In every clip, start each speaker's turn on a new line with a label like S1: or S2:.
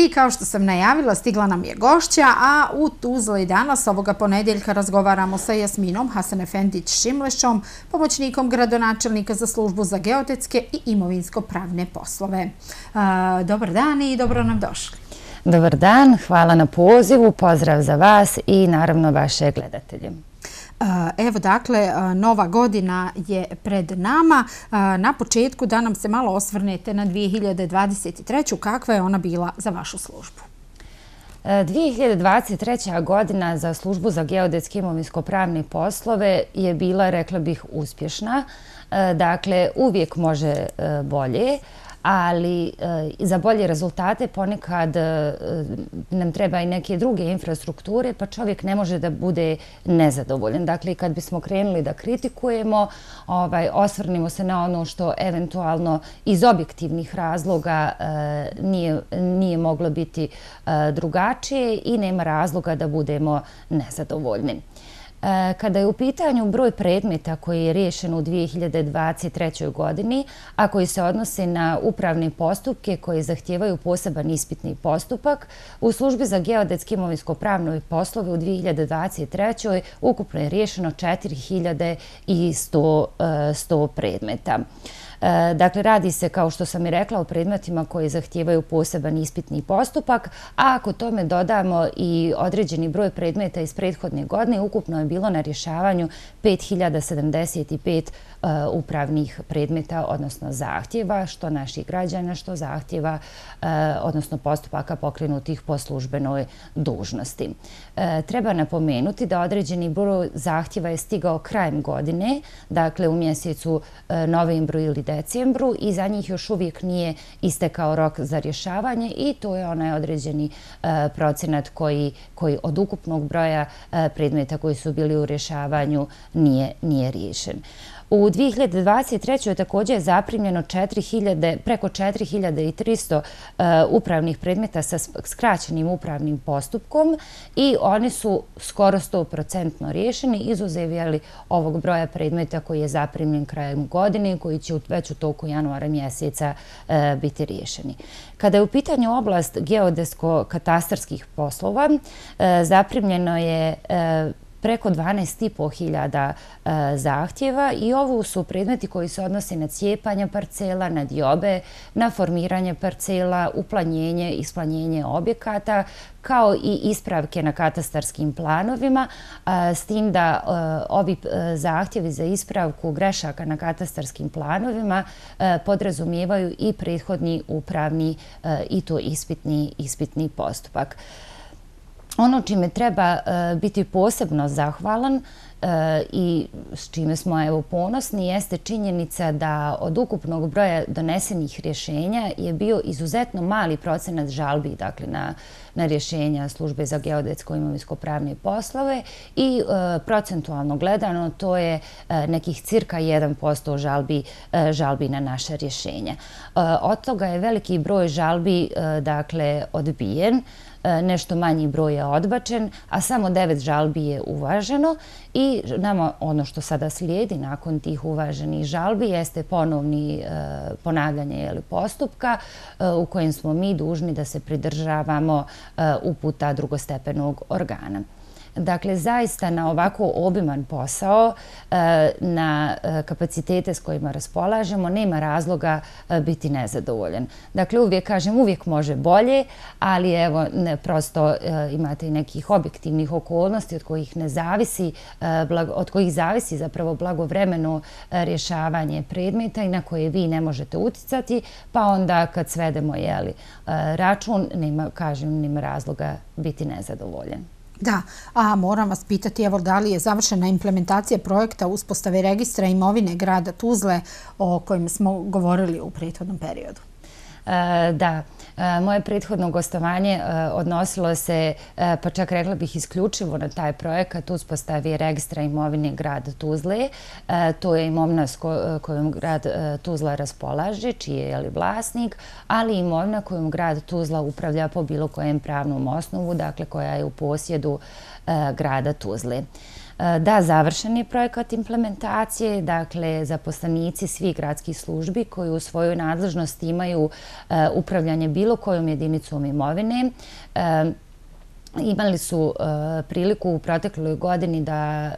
S1: I kao što sam najavila, stigla nam je gošća, a u Tuzli danas ovoga ponedjeljka razgovaramo sa Jasminom Hasanefendić-Šimlešom, pomoćnikom gradonačelnika za službu za geodetske i imovinsko-pravne poslove. Dobar dan i dobro nam došli.
S2: Dobar dan, hvala na pozivu, pozdrav za vas i naravno vaše gledatelje.
S1: Evo dakle, nova godina je pred nama. Na početku da nam se malo osvrnete na 2023. Kakva je ona bila za vašu službu?
S2: 2023. godina za službu za geodetske i imovinsko-pravne poslove je bila, rekla bih, uspješna. Dakle, uvijek može bolje, ali za bolje rezultate ponekad nam treba i neke druge infrastrukture, pa čovjek ne može da bude nezadovoljan. Dakle, kad bismo krenuli da kritikujemo, osvrnimo se na ono što eventualno iz objektivnih razloga nije moglo biti drugačije i nema razloga da budemo nezadovoljni. Kada je u pitanju broj predmeta koji je riješen u 2023. godini, a koji se odnose na upravne postupke koji zahtijevaju poseban ispitni postupak, u službi za geodetske i imovinsko-pravne poslove u 2023. ukupno je riješeno 4100 predmeta. Dakle, radi se, kao što sam i rekla, o predmetima koji zahtijevaju poseban ispitni postupak, a ako tome dodamo i određeni broj predmeta iz prethodne godine, ukupno je bilo na rješavanju 5075 upravnih predmeta, odnosno zahtjeva, što naših građana, što zahtjeva, odnosno postupaka pokrenutih po službenoj dužnosti. Treba napomenuti da određeni broj zahtjeva je stigao krajem godine, dakle u mjesecu novembru ili decembru, i za njih još uvijek nije istekao rok za rješavanje i to je onaj određeni procenat koji od ukupnog broja predmeta koji su bili u rješavanju nije riješen. U 2023. je također zaprimljeno preko 4300 upravnih predmeta sa skraćenim upravnim postupkom i oni su skoro 100% riješeni, izuzev ovog broja predmeta koji je zaprimljen krajem godine i koji će već u toku januara mjeseca biti riješeni. Kada je u pitanju oblast geodetsko-katastarskih poslova, zaprimljeno je preko 12.500 zahtjeva i ovo su predmeti koji se odnose na cijepanje parcela, na diobe, na formiranje parcela, uplanjenje i isplanjenje objekata, kao i ispravke na katastarskim planovima, s tim da ovi zahtjevi za ispravku grešaka na katastarskim planovima podrazumijevaju i prethodni upravni i to ispitni postupak. Ono čime treba biti posebno zahvalan i s čime smo ponosni jeste činjenica da od ukupnog broja donesenih rješenja je bio izuzetno mali procenat žalbi, dakle na rješenja službe za geodetsko i imovinsko-pravne poslove i procentualno gledano to je nekih cirka 1% žalbi na naše rješenja. Od toga je veliki broj žalbi dakle odbijen, nešto manji broj je odbačen, a samo 9 žalbi je uvaženo i nama ono što sada slijedi nakon tih uvaženih žalbi jeste ponavljanje postupka u kojem smo mi dužni da se pridržavamo uputa drugostepenog organa. Dakle, zaista na ovako obiman posao, na kapacitete s kojima raspolažemo, nema razloga biti nezadovoljan. Dakle, uvijek može bolje, ali evo, prosto imate i nekih objektivnih okolnosti od kojih zavisi zapravo blagovremeno rješavanje predmeta i na koje vi ne možete uticati, pa onda kad svedemo račun, nema razloga biti nezadovoljan.
S1: Da, a moram vas pitati, evo, da li je završena implementacija projekta uspostave registra imovine grada Tuzle o kojem smo govorili u prethodnom periodu?
S2: Da, moje prethodno gostovanje odnosilo se, pa čak rekla bih isključivo na taj projekat uspostavi registra imovine grada Tuzle. To je imovina s kojom grad Tuzla raspolaže, čiji je vlasnik, ali i imovina kojom grad Tuzla upravlja po bilo kojem pravnom osnovu, dakle koja je u posjedu grada Tuzle. Da, završen je projekat implementacije, dakle zaposlenici svih gradskih službi koji u svojoj nadležnosti imaju upravljanje bilo kojom jedinicom imovine, imali su priliku u protekloj godini da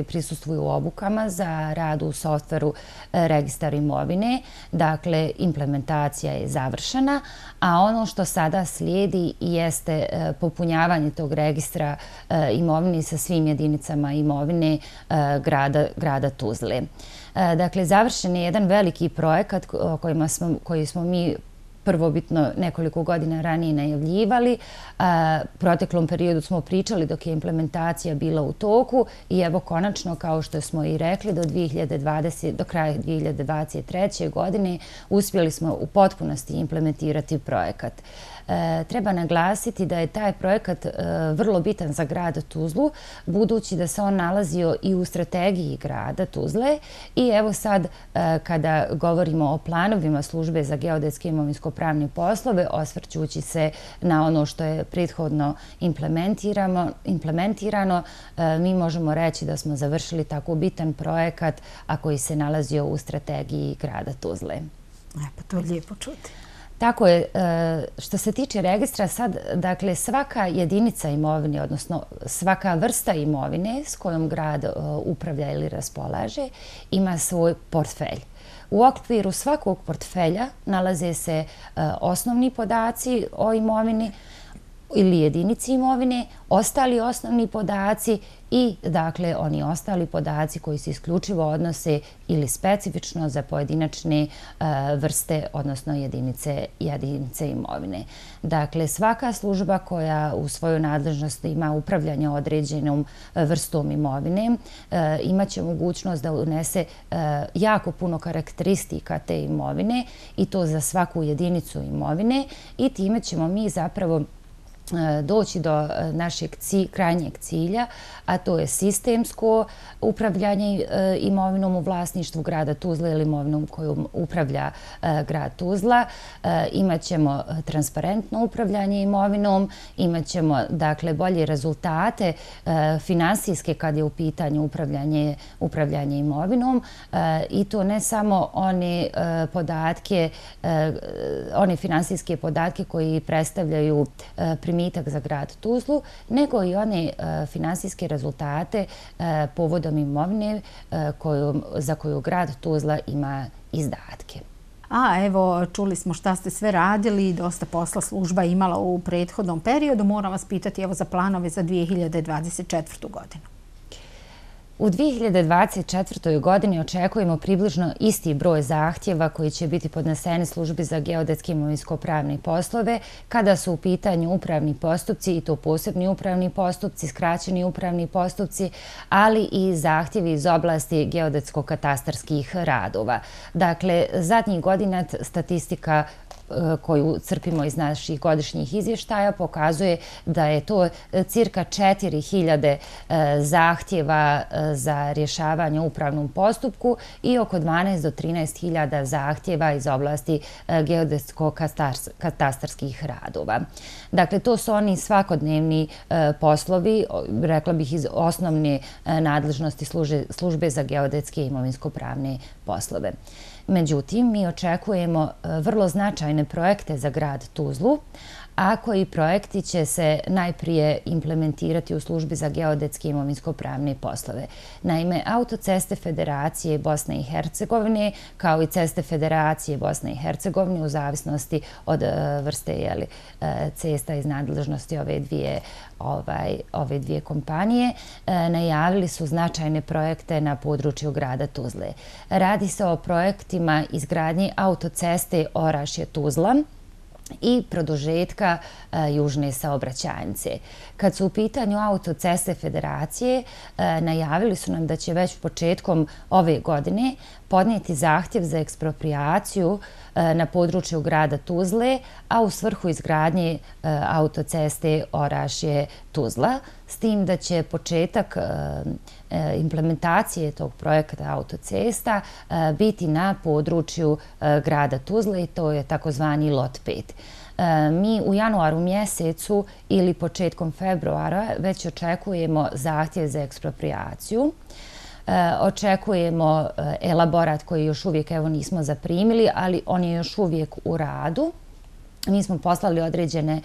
S2: prisustvuju obukama za rad u softveru registar imovine. Dakle, implementacija je završena, a ono što sada slijedi jeste popunjavanje tog registra imovine sa svim jedinicama imovine grada Tuzle. Dakle, završen je jedan veliki projekat koji smo mi prvobitno nekoliko godina ranije najavljivali. U proteklom periodu smo pričali dok je implementacija bila u toku i evo konačno, kao što smo i rekli, do kraja 2023. godine uspjeli smo u potpunosti implementirati projekat. Treba naglasiti da je taj projekat vrlo bitan za grad Tuzlu, budući da se on nalazio i u strategiji grada Tuzle i evo sad kada govorimo o planovima službe za geodetske i imovinsko-pravne poslove, osvrćući se na ono što je prethodno implementirano, mi možemo reći da smo završili tako bitan projekat, a koji se nalazio u strategiji grada Tuzle.
S1: Pa to je lijepo čuti.
S2: Tako je, što se tiče registra sad, dakle svaka jedinica imovine, odnosno svaka vrsta imovine s kojom grad upravlja ili raspolaže, ima svoj portfelj. U okviru svakog portfelja nalaze se osnovni podaci o imovini ili jedinici imovine, ostali osnovni podaci i dakle oni ostali podaci koji se isključivo odnose ili specifično za pojedinačne vrste, odnosno jedinice imovine. Dakle, svaka služba koja u svojoj nadležnosti ima upravljanje određenom vrstom imovine imaće mogućnost da unese jako puno karakteristika te imovine i to za svaku jedinicu imovine i time ćemo mi zapravo doći do našeg krajnjeg cilja, a to je sistemsko upravljanje imovinom u vlasništvu grada Tuzla ili imovinom kojom upravlja grad Tuzla. Imaćemo transparentno upravljanje imovinom, imaćemo dakle bolje rezultate finansijske kad je u pitanju upravljanje imovinom i to ne samo one finansijske podatke koji predstavljaju primitak za grad Tuzlu, nego i one finansijske rezultate povodom imovine za koju grad Tuzla ima izdatke.
S1: A evo, čuli smo šta ste sve radili i dosta posla služba imala u prethodnom periodu. Moram vas pitati evo za planove za 2024. godinu.
S2: U 2024. godini očekujemo približno isti broj zahtjeva koji će biti podneseni službi za geodetske i imovinsko-pravne poslove kada su u pitanju upravni postupci i to posebni upravni postupci, skraćeni upravni postupci, ali i zahtjevi iz oblasti geodetsko-katastarskih radova. Dakle, zadnjih godina statistika koju crpimo iz naših godišnjih izvještaja pokazuje da je to cirka 4000 zahtjeva za rješavanje u upravnom postupku i oko 12 do 13.000 zahtjeva iz oblasti geodetsko-katastarskih radova. Dakle, to su oni svakodnevni poslovi, rekla bih iz osnovne nadležnosti službe za geodetske i imovinsko-pravne poslove. Međutim, mi očekujemo vrlo značajne projekte za grad Tuzlu, a koji projekti će se najprije implementirati u službi za geodetske i imovinsko-pravne poslove. Naime, autoceste Federacije Bosne i Hercegovine, kao i ceste Federacije Bosne i Hercegovine, u zavisnosti od vrste cesta iz nadležnosti ove dvije kompanije, najavili su značajne projekte na području grada Tuzle. Radi se o projektima izgradnje autoceste Orašje-Tuzla i produžetka južne saobraćajnice. Kad su u pitanju autoceste Federacije, najavili su nam da će već početkom ove godine podnijeti zahtjev za eksproprijaciju na području grada Tuzle, a u svrhu izgradnje autoceste Orašje-Tuzla, s tim da će početak implementacije tog projekta autocesta biti na području grada Tuzle i to je takozvani lot 5. Mi u januaru mjesecu ili početkom februara već očekujemo zahtjev za eksproprijaciju. Očekujemo elaborat koji još uvijek nismo zaprimili, ali on je još uvijek u radu. Mi smo poslali određene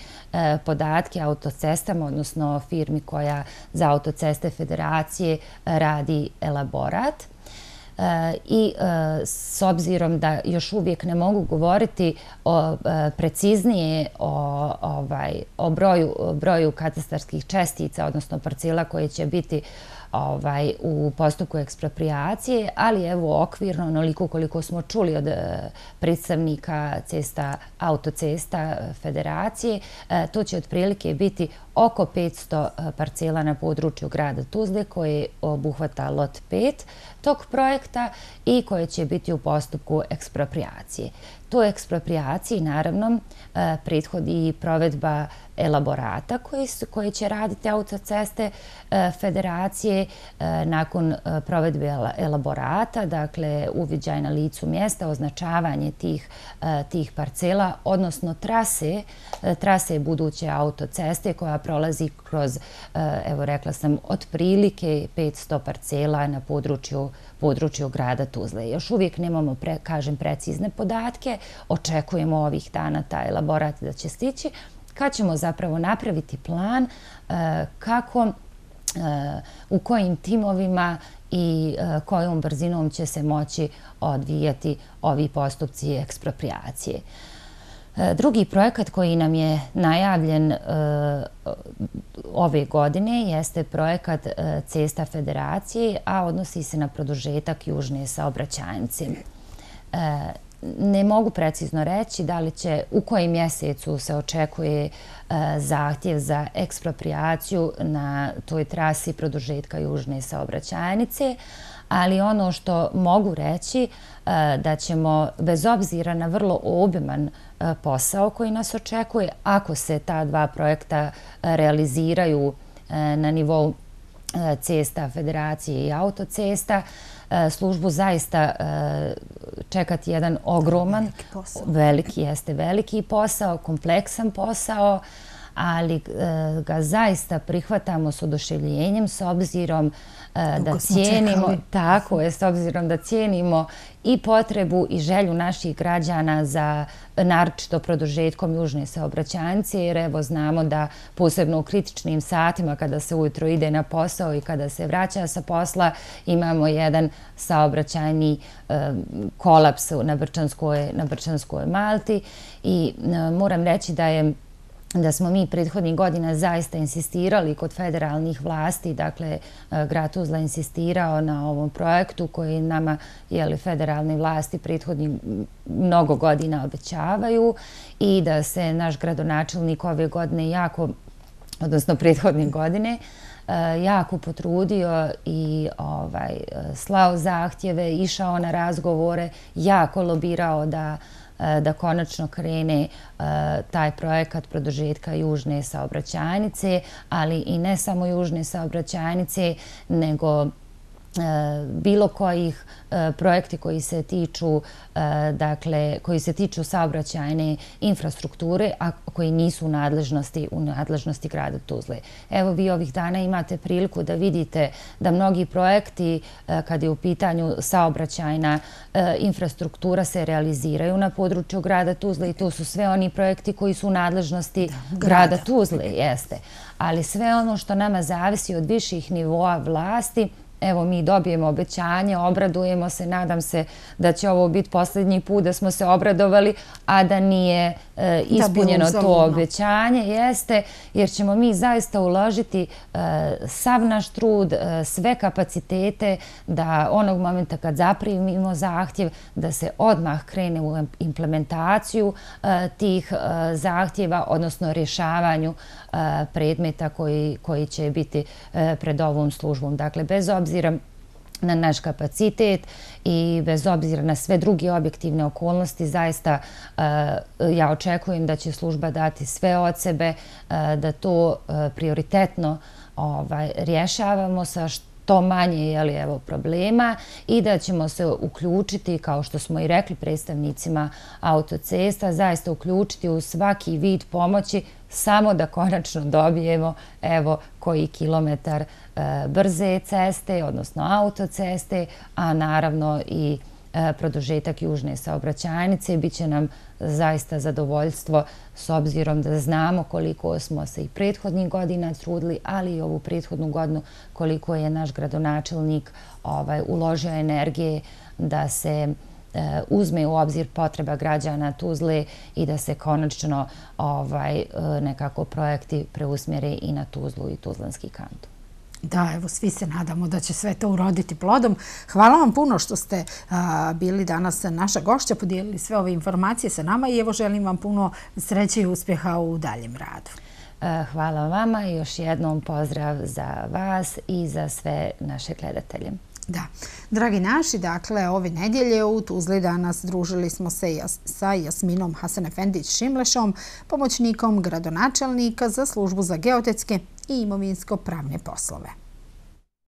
S2: podatke autocestama, odnosno firmi koja za autoceste Federacije radi elaborat. I s obzirom da još uvijek ne mogu govoriti preciznije o broju katastarskih čestica, odnosno parcela koje će biti u postupku eksproprijacije, ali evo okvirno, onoliko koliko smo čuli od predstavnika autocesta Federacije, to će otprilike biti oko 500 parcela na području grada Tuzle koje obuhvata lot 5 tog projekta i koje će biti u postupku eksproprijacije. Toj eksproprijaciji naravno prethodi provedba elaborata koje će raditi autoceste Federacije. Nakon provedbe elaborata, dakle uviđaj na licu mjesta, označavanje tih parcela, odnosno trase buduće autoceste koja prolazi kroz, evo rekla sam, otprilike 500 parcela na području grada Tuzle. Još uvijek nemamo, kažem, precizne podatke. Očekujemo ovih dana taj elaborat da će stići, kad ćemo zapravo napraviti plan kako, u kojim timovima i kojom brzinom će se moći odvijati ovi postupci eksproprijacije. Drugi projekat koji nam je najavljen ove godine jeste projekat Cesta Federacije, a odnosi se na produžetak južne saobraćajnice. Ne mogu precizno reći da li će, u kojem mjesecu se očekuje zahtjev za eksproprijaciju na toj trasi produžetka južne saobraćajnice, ali ono što mogu reći da ćemo, bez obzira na vrlo obiman posao koji nas očekuje, ako se ta dva projekta realiziraju na nivou cesta Federacije i autocesta, službu zaista čekati jedan ogroman, veliki posao, kompleksan posao, ali ga zaista prihvatamo s oduševljenjem s obzirom da cijenimo, tako je, s obzirom da cijenimo i potrebu i želju naših građana za naročito produžetkom južne saobraćajnice, jer evo znamo da posebno u kritičnim satima kada se ujutro ide na posao i kada se vraća sa posla imamo jedan saobraćajni kolaps na Brčanskoj Malti i moram reći da smo mi prethodnih godina zaista insistirali kod federalnih vlasti, dakle grad Tuzla insistirao na ovom projektu koji nama federalne vlasti prethodnih mnogo godina obećavaju i da se naš gradonačelnik ove godine odnosno prethodne godine, jako potrudio i slao zahtjeve, išao na razgovore, jako lobirao da konačno krene taj projekat produžetka južne saobraćajnice, ali i ne samo južne saobraćajnice, nego bilo kojih projekti koji se tiču saobraćajne infrastrukture, a koji nisu u nadležnosti grada Tuzle. Evo vi ovih dana imate priliku da vidite da mnogi projekti, kad je u pitanju saobraćajna infrastruktura, se realiziraju na području grada Tuzle i to su sve oni projekti koji su u nadležnosti grada Tuzle, jeste. Ali sve ono što nama zavisi od viših nivoa vlasti, evo mi dobijemo obećanje, obradujemo se, nadam se da će ovo biti posljednji put da smo se obradovali, a da nije ispunjeno to obećanje, jeste, jer ćemo mi zaista uložiti sav naš trud, sve kapacitete da onog momenta kad zaprimimo zahtjev, da se odmah krene u implementaciju tih zahtjeva, odnosno rješavanju predmeta koji će biti pred ovom službom. Dakle, bez obzira na naš kapacitet i bez obzira na sve druge objektivne okolnosti, zaista ja očekujem da će služba dati sve od sebe, da to prioritetno rješavamo sa što manje problema i da ćemo se uključiti, kao što smo i rekli predstavnicima autocesta, zaista uključiti u svaki vid pomoći samo da konačno dobijemo koji kilometar brze ceste, odnosno autoceste, a naravno i produžetak južne saobraćajnice. Biće nam zaista zadovoljstvo s obzirom da znamo koliko smo se i prethodnih godina trudili, ali i ovu prethodnu godinu koliko je naš gradonačelnik uložio energije da se uzme u obzir potreba građana Tuzle i da se konačno nekako projekti preusmjere i na Tuzlu i Tuzlanski kanton.
S1: Da, evo, svi se nadamo da će sve to uroditi plodom. Hvala vam puno što ste bili danas naša gošća, podijelili sve ove informacije sa nama i evo želim vam puno sreće i uspjeha u daljem radu.
S2: Hvala vama i još jednom pozdrav za vas i za sve naše gledatelje.
S1: Da, dragi naši, dakle, ove nedjelje u Tuzli danas družili smo se sa Jasminom Hasanefendić-Šimlešom, pomoćnikom gradonačelnika za službu za geotetske i imovinsko-pravne poslove.